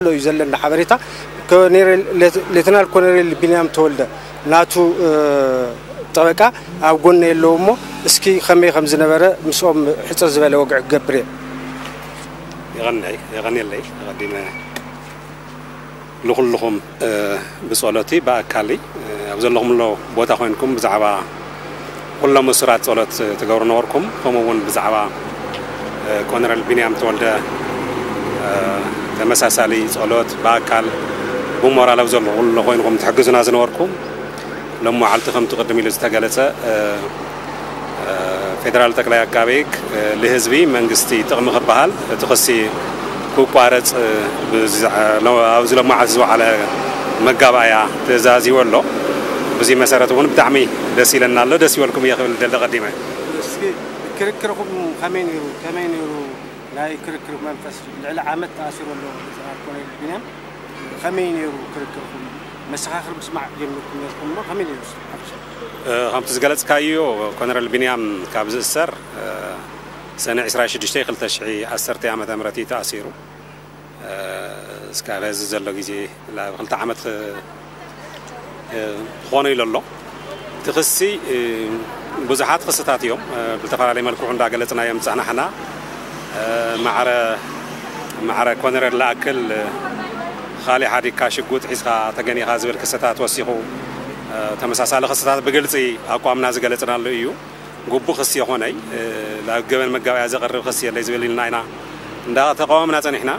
ዘሎ እዩ ዘለና ሓበሬታ። ኮኔሬል ሌት- ሌተናል ኮኔሬል ቢንያም ተወልደ ናቱ እ፣ ጠበቃ ኣብ ጎነ የለው እሞ እስኪ ከመይ ከም ዝነበረ ምስኦም ሕፅር ዝበለ ወግዒ ክገብር እየ። የቐንይ የቐንየለይ ኣቐዲመ ንኩልኹም እ፣ ብጸሎቲ ብኣካሊ እ፣ ኣብ ዘለኹምሎ ቦታ ኮይንኩም ብዛዕባ ኩሎም እሱራት ጸሎት ትገብሩ ነበርኩም። ከምኡ እውን ብዛዕባ እ፣ ኮነረል ቢንያም ተወልደ እ፣ ተመሳሳሊ ጸሎት ብኣካል ብሞራል ኣብ ዘለኹምሎ ኮይንኩም ትሕግዙና ዝነበርኩም ሎም መዓልቲ ከምቲ ቅድም ኢሉ ዝተገለጸ እ፣ እ፣ ፌደራል ጠቅላይ ኣቃቤ ሕግ እ፣ ልህዝቢ መንግስቲ ጥቕሚ ክበሃል እቲ ክሲ ክቋረጽ እ፣ ብዝዓ- ሎ- ኣብዚ ሎማዓት ዝወዓለ መጋባእያ ተዛዚቡ ኣሎ። ብዚ መሰረት እውን ብጣዕሚ ደስ ኢለና ኣሎ። ደስ ይበልኩም እየ ክብል ደሊ ቀዲመ። እስኪ ክርክርኹም ከመይ ነይሩ? ከመይ ነይሩ ናይ ክርክር መንፈስ? ልዕሊ ዓመት ተኣሲሩ ኣሎ ሌተናል ኮሎኔል ቢንያም። ከመይ ነይሩ ክርክርኩም? መሰኻኽር ምስማዕ ጀሚርኩም ነርኩም እሞ ከመይ ነይሩ? ሓፈሻ እ፣ ከምቲ ዝገለጽካዮ ኮነረል ቢንያም ካብ ዝእሰር እ፣ ሰነ ዕስራ ሽዱሽተ ክልተ ሽሕ ዓሰርተ ዓመተ ምህረት እዩ ተኣሲሩ። እ፣ እስካብ ሕዚ ዘሎ ግዜ ላብ ክልተ ዓመት ክ- እ፣ ክኾኖ ኢሉ ኣሎ። እቲ ክሲ እ፣ ብዙሓት ክስታት እዮም እ፣ ብዝተፈላለየ መልክዑ እንዳገለፅና እዮም ዝፀናሕና። እ፣ ማዕረ ማዕረ ኮነረል ለኣክል እ፣ ካሊእ ሓዲግካ ሽጉጥ ሒዝካ ተገኒኻ ዝብል ክስታት ወሲኹ እ፣ ተመሳሳሊ ክስታት ብግልፂ ኣቋምና ዝገለፅናሉ እዩ። ግቡእ ክሲ የኾነይ ናብ ገበን መጋበያ ዘቕርብ ክሲ የለይ ዝብል ኢልና ኢና እንዳተቃወምና ጸኒሕና።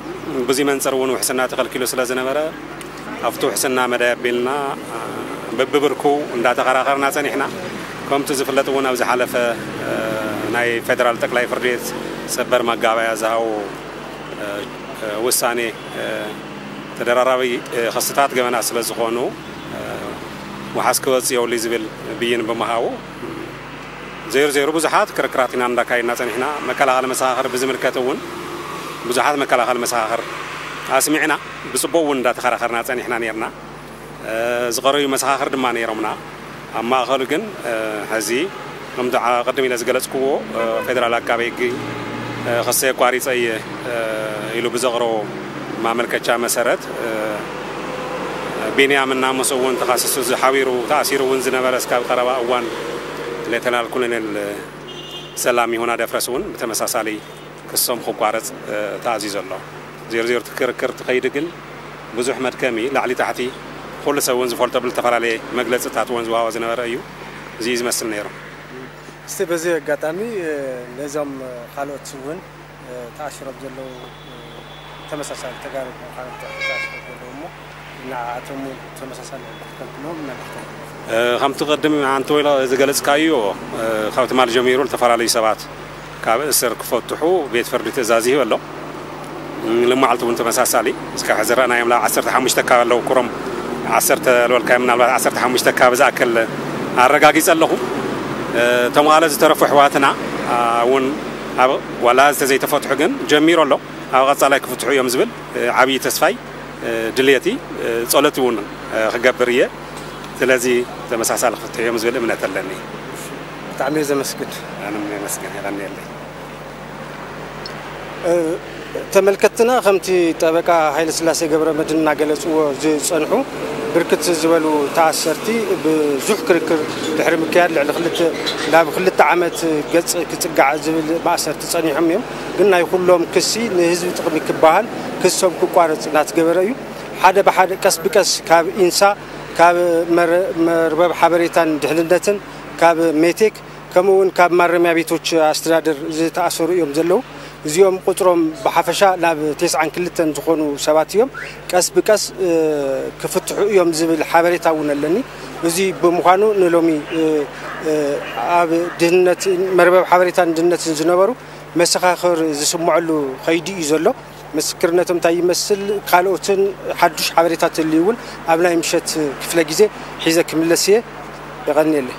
ብዙይ መንጽር እውን ውሕስና ተኸልኪሉ ስለ ዝነበረ ኣብቲ ውሕስና መዳይ ኣቢልና በብብርኩ እንዳተኸራኸርና ጸኒሕና። ከምቲ ዝፍለጥ እውን ኣብ ዝሓለፈ ናይ ፌደራል ጠቅላይ ፍርድ ቤት ሰበር ማጋበያ ዝሃቦ ውሳኔ ተደራራቢ ክስታት ገበናት ስለ ዝኾኑ ውሓስ ክወጽእ የብሉ ዝብል ብይን ብምሃቡ ዘይሩ ዘይሩ ብዙሓት ክርክራት ኢና እንዳካየድና ጸኒሕና። መከላኸሊ መሰኻኽር ብዝምልከት እውን ብዙሓት መከላኸሊ መሰኻኽር ኣስሚዕና ብጽቡቕ እውን እንዳተኸራኸርና ጸኒሕና ነርና። ዝቐረዩ መሰኻኽር ድማ ነይሮምና። ኣብ ማእኸሉ ግን ሕዚ ከምቲ ቅድም ኢለ ዝገለጽክዎ ፌደራል ኣቃቤ ሕጊ ክሰይ ኣቋሪጸ እየ ኢሉ ብዘቕረቦ ማመልከቻ መሰረት ቢንያም እናመሰ እውን ተኻሲሱ ዝሓቢሩ ተኣሲሩ እውን ዝነበረ እስካብ ቀረባ እዋን ሌተናል ኮሎኔል ሰላም ይሁና ደፍረስ እውን ብተመሳሳሊ ክሶም ክቋረፅ ተኣዚዙ ኣሎ። ዜሮ ዜሮ ክርክር ትኸይድ ግን ብዙሕ መድከሚ ላዕሊ ታሕቲ ኩሉ ሰብ እውን ዝፈልጦ ብዝተፈላለየ መግለፅታት እውን ዝወሃቦ ዝነበረ እዩ። እዚ እዩ ዝመስል ነይሩ። እስቲ በዚ ኣጋጣሚ ነዞም ካልኦት እውን ተኣሲሮም ዘለዉ ተመሳሳሊ ተጋሩ ምዃኖም ተኣሲሮም ዘለዉ እሞ ንዓኣቶም እውን ተመሳሳሊ ክትከልክሎም መልእኽቶም ከምቲ ቅድም ኣንተ ወይላ ዝገለፅካዮ ካብ ትማል ጀሚሩ ዝተፈላለዩ ሰባት ካብ እስር ክፈትሑ ቤት ፍርዲ ትእዛዝ ይህብ ኣሎ። ልማዓልቲ እውን ተመሳሳሊ እስካብ ሕዚ ረኣናዮም ላ ዓሰርተ ሓሙሽተ ካብ ኣለዉ ኩሮም ዓሰርተ ዝበልካዮም ምናልባት ዓሰርተ ሓሙሽተ ካብ ዝኣክል ኣረጋጊፀ ኣለኹ። እቶም ካልኦት ዝተረፉ ኣሕዋትና እውን ኣብ ዋላ ዝተዘይተፈትሑ ግን ጀሚሩ ኣሎ ኣብ ቀፃላይ ክፍትሑ እዮም ዝብል ዓብዪ ተስፋይ ድልየቲ ጸሎት እውን ክገብር እየ። ስለዚ ተመሳሳሊ ክፍትሑ እዮም ዝብል እምነት ኣለኒ። ብጣዕሚ እየ ዘመስግን። ኣነ እውን የመስግን። የቐንየለይ። ተመልከትና ከምቲ ጠበቃ ሃይለስላሴ ገብረመድህን እናገለፅዎ ዝፀንሑ ብርክት ዝበሉ ተኣሰርቲ ብዙሕ ክርክር ድሕሪ ምክያድ ልዕሊ ክልተ ናብ ክልተ ዓመት ገፅ ክፅጋዕ ዝብል ማእሰርቲ ፀኒሖም እዮም። ግን ናይ ኩሎም ክሲ ንህዝቢ ጥቕሚ ክበሃል ክሶም ክቋረፅ እናተገበረ እዩ። ሓደ ብሓደ ቀስ ብቀስ ካብ ኢንሳ ካብ መርበብ ሓበሬታን ድሕንነትን ካብ ሜቴክ ከምኡ እውን ካብ ማረሚያ ቤቶች ኣስተዳደር ዝተኣሰሩ እዮም ዘለዉ። እዚኦም ቁፅሮም ብሓፈሻ ናብ ተስዓን ክልተን ዝኾኑ ሰባት እዮም። ቀስ ብቀስ ክፍትሑ እዮም ዝብል ሓበሬታ እውን ኣለኒ። እዚ ብምዃኑ ንሎሚ ኣብ ድህንነት መርበብ ሓበሬታን ድህንነትን ዝነበሩ መሰኻኽር ዝስምዐሉ ከይዲ እዩ ዘሎ። ምስክርነቶም እንታይ ይመስል፣ ካልኦትን ሓዱሽ ሓበሬታ ተልዩ እውን ኣብ ናይ ምሸት ክፍለ ግዜ ሒዘ ክምለስ እየ። የቐንየለይ።